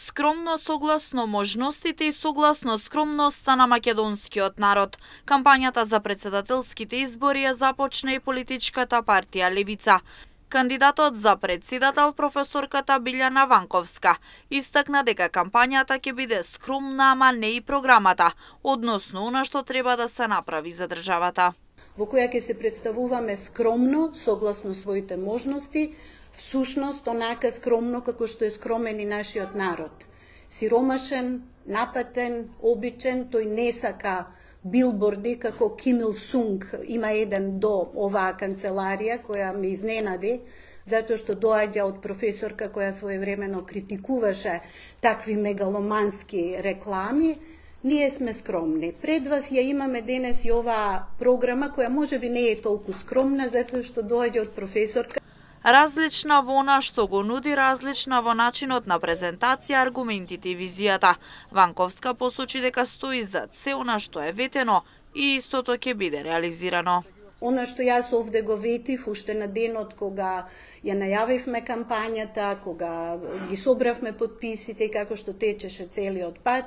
Скромно согласно можностите и согласно скромноста на македонскиот народ. Кампањата за председателските избори ја започна и политичката партија Левица. Кандидатот за председател професорката Билјана Ванковска истакна дека кампањата ќе биде скромна, ама не и програмата, односно она што треба да се направи за државата. Во која ќе се представуваме скромно, согласно своите можности, всушност онака скромно како што е скромен и нашиот народ. Сиромашен, напатен, обичен, тој не сака билборди како Ким Ил Сунг има еден до оваа канцеларија која ме изненади, затоа што доаѓа од професорка која своевремено критикуваше такви мегаломански реклами. Ние сме скромни. Пред вас ја имаме денес и оваа програма која можеби не е толку скромна затоа што доаѓа од професорка. Различна во она што го нуди, различна во начинот на презентација, аргументите и визијата. Ванковска посочи дека стои за се она што е ветено и истото ќе биде реализирано. Она што јас овде го ветив уште на денот кога ја најавивме кампањата, кога ги собравме подписите и како што течеше целиот пат,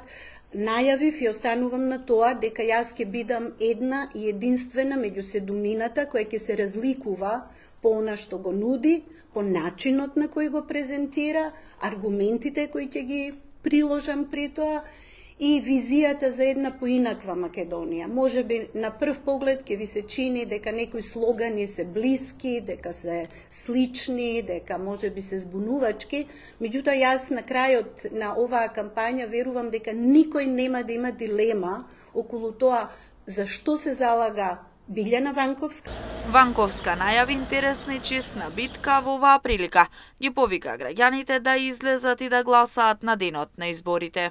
најавив и останувам на тоа дека јас ќе бидам една и единствена меѓу седумината која ќе се разликува по она што го нуди, по начинот на кој го презентира, аргументите кои ќе ги приложам при тоа и визијата за една поинаква Македонија. Можеби на прв поглед ќе ви се чини дека некои слогани се блиски, дека се слични, дека можеби се збунувачки, меѓутоа јас на крајот на оваа кампања верувам дека никој нема да има дилема околу тоа за што се залага Билјана Ванковска. Ванковска најави интересна и честна битка во оваа прилика. Ги повика граѓаните да излезат и да гласаат на денот на изборите.